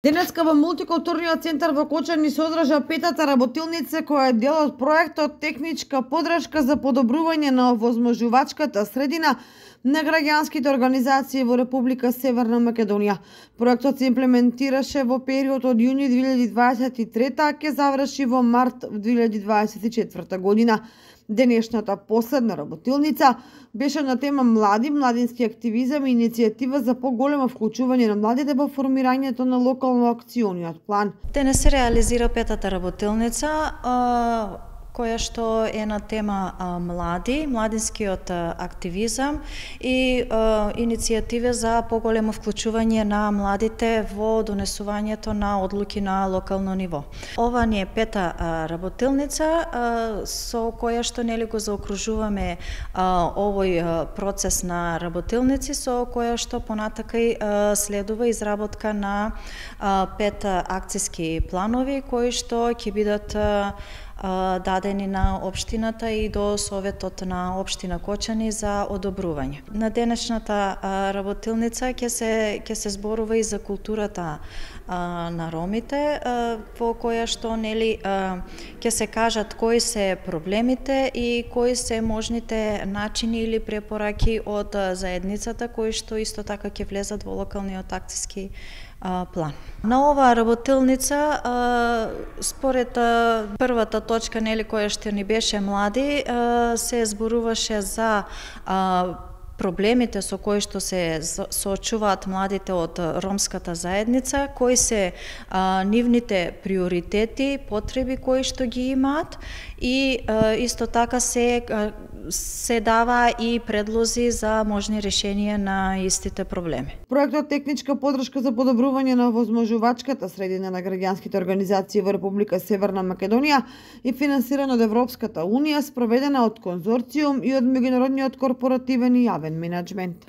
Денеска во мултикултурниот центар во Кочани се одржа петата работилница која е дел од проектот техничка поддршка за подобрување на овозможувачката средина на граѓанските организации во Република Северна Македонија. Проектот се имплементираше во период од јуни 2023, а ќе заврши во март 2024 година. Денешната последна работилница беше на тема млади, младински активизам и иницијатива за поголемо вклучување на младите во формирањето на локално акциониот план. Денес се реализира петата работилница која што е на тема млади, младинскиот активизам и иницијативе за поголемо вклучување на младите во донесувањето на одлуки на локално ниво. Ова ни е пета работилница со која што нели го заокружуваме овој процес на работилници, со која што понатака и следува изработка на 5 акциски планови кои што ќе бидат дадени на општината и до Советот на општина Кочани за одобрување. На денешната работилница ќе се зборува и за културата на ромите, во која што нели ќе се кажат кои се проблемите и кои се можните начини или препораки од заедницата кои што исто така ќе влезат во локалниот акциски план. На оваа работилница, според првата точка нели која што ни беше млади, се зборуваше за проблемите со кои што се соочуваат младите од ромската заедница, кои се нивните приоритети, потреби кои што ги имаат и исто така се дава и предлози за можни решенија на истите проблеми. Проектот техничка поддршка за подобрување на овозможувачката средина на граѓанските организации во Република Северна Македонија и финансиран од Европската унија, спроведена од конзорциум и од меѓународниот корпоративен и јавен менаџмент.